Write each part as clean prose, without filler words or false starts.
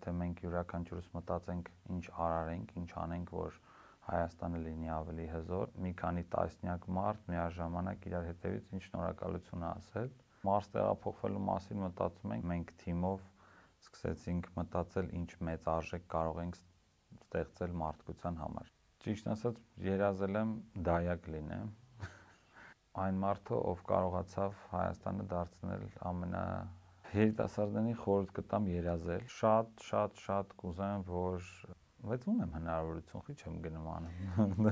եթե մենք յուրաքանչյուրս մտածենք ինչ արարենք, ինչ անենք, որ Հայաստանը լինի ավելի հզոր, մի քանի տասնյակ մարդ միաժամանակ իրար հետևից ինչ շնորհակալություն ասել։ Մարս տեղափոխվելու մասին մտածում ենք, մենք թիմով սկսեցինք մտածել ինչ մեծ արժեք կարող ենք ստեղծել մարդկության համար։ Ճիշտ ասած, երազել եմ դայակ լինեմ։ Այն մարդը, ով կարողացավ Հայաստանը դարձնել երիտասարդներին խորհուրդ կտամ երազել։ Շատ կուզեմ, որ բայց ունեմ հնարավորություն, խի չեմ գնում անում։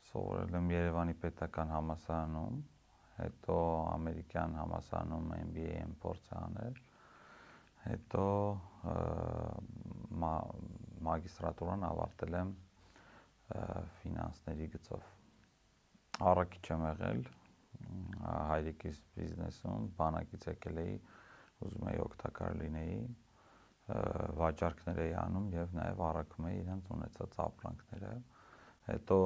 Սովորել եմ Երևանի պետական համալսարանում, հետո ամերիկյան համալսարանում MBA եմ փորձ անել, հետո մագիստրատուրան ավարտել եմ ֆինանսների գծով։ Առաքիչ եմ եղել հայրիկիս բիզնեսում, բանակից եկել էի, ուզում էի օգտակար լինեի, վաճառքներ էի անում եւ նաեւ առաքում էի իրենց ունեցած ապրանքները։ Հետո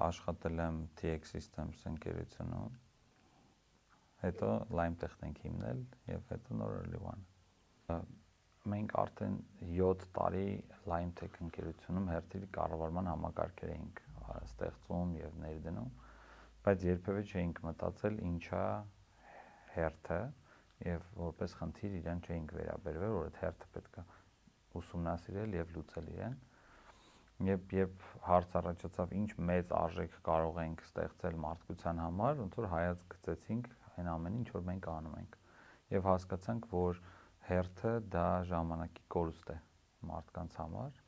աշխատել եմ TX Systems ընկերությունում, հետո LimeTech ենք հիմնել եւ հետո նոր Early One։ Մենք արդեն 7 տարի LimeTech ընկերությունում հերթի կառավարման համակարգեր էինք ստեղծում եւ ներդնում, բայց երբևէ չէինք մտածել ինչա հերթը եւ որպես խնդիր իրեն չէինք վերաբերվել, որ այդ հերթը պետք է ուսումնասիրել եւ լուծել իրեն։ Երբ հարց առաջացավ ինչ մեծ արժեք կարող ենք ստեղծել մարդկության համար, ոնց որ հայացք գցեցինք այն ամենին, ինչ որ մենք անում ենք եւ հասկացանք, որ հերթը դա ժամանակի կորուստ է մարդկանց համար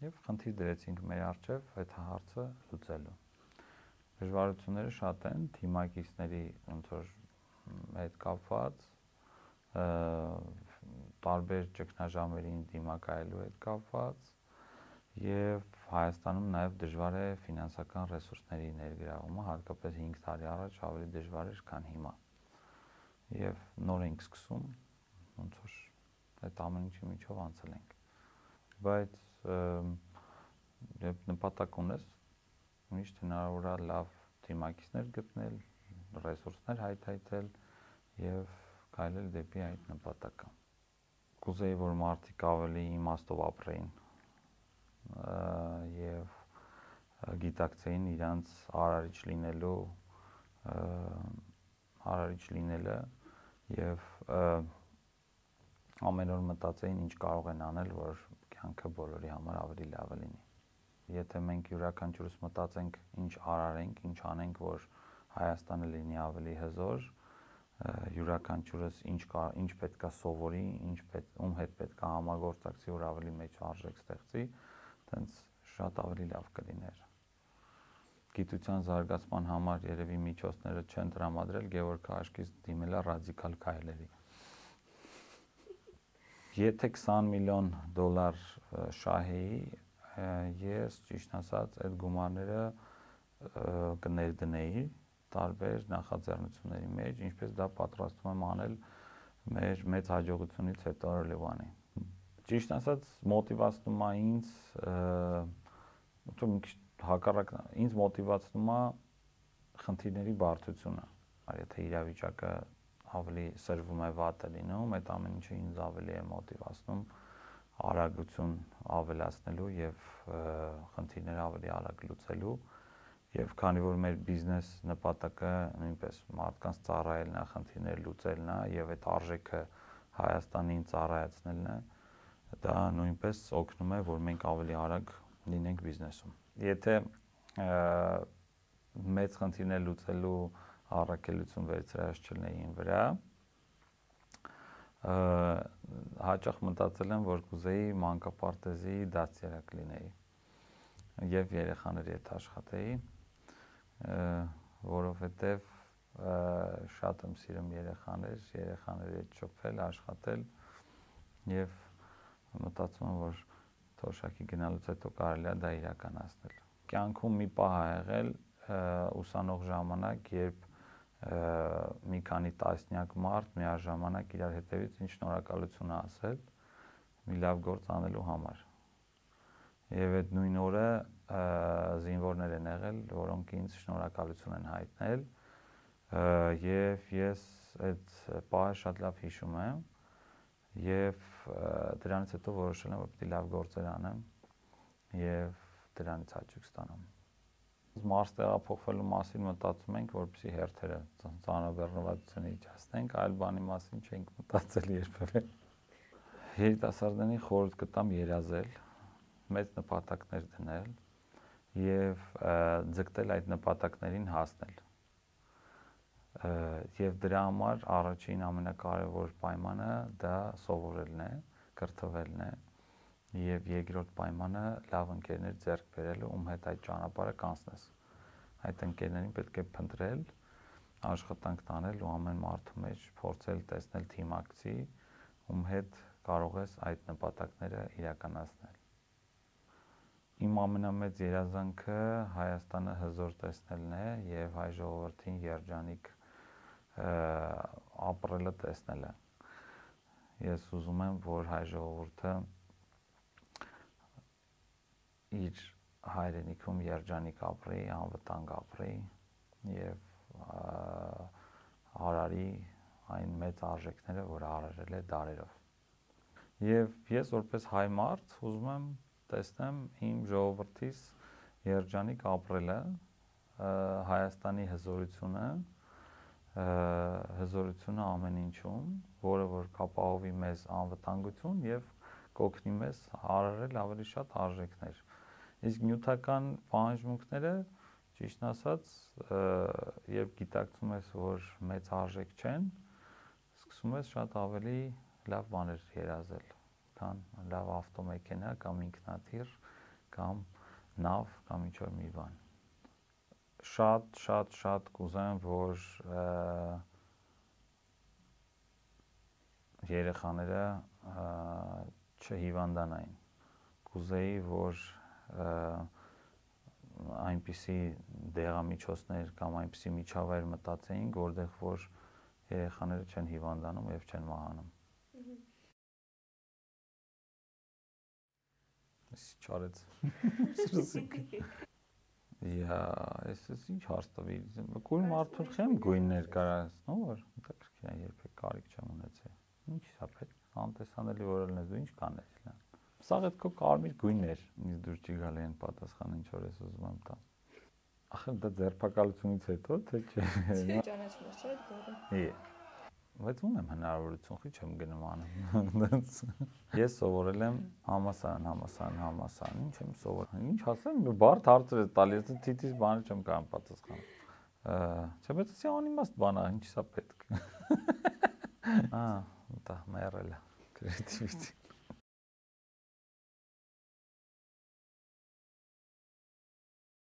եւ խնդիր դրեցինք մեր առջեւ այդ հարցը լուծելու։ Դժվարությունները շատ են, թիմակիցների ոնց որ հետ կապված, տարբեր ճգնաժամերին դիմակայելու հետ կապված եւ Հայաստանում նաեւ դժվար է ֆինանսական ռեսուրսների ներգրավումը, հատկապես 5 տարի առաջ ավելի դժվար էր, քան հիմա։ Եվ նոր ենք սկսում, ոնց որ այդ ամեն ինչի միջով անցել ենք։ Բայց երբ նպատակ ունես, միշտ հնարավոր է լավ թիմակիցներ գտնել, ռեսուրսներ հայթայթել եւ քայլել դեպի այդ նպատակը։ Կուզեի, որ մարդիկ ավելի իմաստով ապրեին եւ գիտակցեին իրանց արարիչ լինելը եւ ամեն օր մտածեին ինչ կարող են անել, որ կյանքը բոլորի համար ավելի լավը լինի։ Եթե մենք յուրաքանչյուրս մտածենք ինչ արարենք, ինչ անենք, որ Հայաստանը լինի ավելի հզոր, յուրաքանչյուրս ինչ պետքա սովորի, ում հետ պետքա համագործակցի, որ ավելի մեծ արժեք ստեղծի, տենց շատ ավելի լավ կլիներ։ Գիտության զարգացման համար երևի միջոցները չեն տրամադրել, Գևորգ Քաշկիս դիմելա ռադիկալ քայլերի։ Եթե $20 միլիոն շահեի, ես ճիշտ ասած այդ գումարները կներդնեի տարբեր նախաձեռնությունների մեջ, ինչպես դա պատրաստվում եմ անել մեր մեծ հաջողությունից հետո Early One-ի։ Ճիշտ ասած, մոտիվացնում է ինձ, մի քիչ հակառակ, ինձ մոտիվացնում է խնդիրների բարդությունը։ Եթե իրավիճակը ավելի սրվում է, վատ է լինում, այդ ամեն ինչը ինձ ավելի է մոտիվացնում արագություն ավելացնելու եւ խնդիրները ավելի արագ լուծելու եւ քանի որ մեր բիզնես նպատակը նույնպես մարդկանց ծառայելն է, խնդիրներ լուծելն է եւ այդ արժեքը Հայաստանին ծառայացնելն է, դա նույնպես օգնում է, որ մենք ավելի արագ լինենք բիզնեսում։ Եթե մեծ խնդիրներ լուծելու առաքելություն վերցրած չլինեի ին վրա, հաճախ մտածել եմ, որ կուզեի մանկապարտեզի դաստիարակ լինեի եւ երեխաների հետ աշխատեի, որովհետեւ շատ եմ սիրում երեխաների հետ շփվել, աշխատել եւ մտածում եմ, որ թոշակի գնալուց հետո կարելի է դա իրականացնել։ Կյանքում մի պահ ա եղել ուսանող ժամանակ, երբ մի քանի տասնյակ մարդ միաժամանակ իրար հետևից ինչ շնորհակալություն ասել մի լավ գործ անելու համար։ Եվ այդ նույն օրը զինվորներ են եղել, որոնք ինձ շնորհակալություն են հայտնել Եվ ես այդ պահը շատ լավ հիշում եմ եւ դրանից հետո որոշել եմ որ պիտի լավ գործեր անեմ եւ դրանից հաճույք ստանամ։ Մարս տեղափոխվելու մասին մտածում ենք, որպեսզի հերթերը ծանրաբեռնվածությունը իջացնենք, այլ բանի մասին չենք մտածել երբևէ։ Երիտասարդներին խորհուրդ կտամ երազել, մեծ նպատակներ դնել եւ ձգտել այդ նպատակներին հասնել։ Եվ դրա համար առաջին ամենակարևոր պայմանը դա սովորելն է, կրթվելն է եւ երկրորդ պայմանը լավ ընկերներ ձեռք բերելը, ում հետ այդ ճանապարհը կանցնես։ Այդ ընկերներին պետք է փնտրել, աշխատանք տանել ու ամեն մարդու մեջ փորձել տեսնել թիմակցի, ում հետ կարող ես այդ նպատակները իրականացնել։ Իմ ամենամեծ երազանքը Հայաստանը հզոր տեսնելն է եւ հայ ժողովրդին երջանիկ ապրելը տեսնելը։ Ես ուզում եմ, որ հայ ժողովուրդը իր հայրենիքում երջանիկ ապրի, անվտանգ ապրի եւ արարի այն մեծ արժեքները, որ արարել է դարերով։ Եվ ես որպես հայ մարդ ուզում եմ տեսնեմ իմ ժողովրդիս երջանիկ ապրելը, Հայաստանի հզորությունը ամեն ինչում, որը որ կապահովի մեզ անվտանգություն եւ կօգնի մեզ արարել ավելի շատ արժեքներ։ Իսկ նյութական պահանջմունքները, ճիշտ ասած, երբ գիտակցում ես, որ մեծ արժեք չեն, սկսում ես շատ ավելի լավ բաներ երազել, քան լավ ավտոմեքենա կամ ինքնաթիռ կամ նավ կամ ինչ-որ մի բան։ Շատ կուզեմ, որ երեխաները չհիվանդանային։ Կուզեի, որ այնպիսի դեղամիջոցներ կամ այնպիսի միջավայր մտածեին, որտեղ որ երեխաները չեն հիվանդանում եւ չեն մահանում։ Չարեց։ Ես ինչ հարց տվի։ Գույն մարդուն չեմ գույններ կարասնու, որ հետաքրքիր է, երբեք կարիք չեմ ունեցել։ Ինչ է պետք, անտեսանելի որ լինես, դու ինչ կանես լան։ Սա այդ քո կարմիր գույններ, ինձ դուր չի գալի այն պատասխանը, ինչ որ ես ուզում եմ տալ։ Ախր դա ձերբակալությունից հետո, թե չէ։ Չի ճանաչում ես, չէ՞, դուրը։ Բայց ունեմ հնարավորություն, խի չեմ գնում անում։ Ես սովորել եմ համասարան, ինչ եմ սովորել։ Ինչ ասեմ, բարդ հարցեր է տալիս, թիթիզ բանը չեմ կարող պատասխանել։ Չէ, բայց ասի անիմաստ բան է, ինչ է պետք։ Դա մերելը, կրեատիվիտի։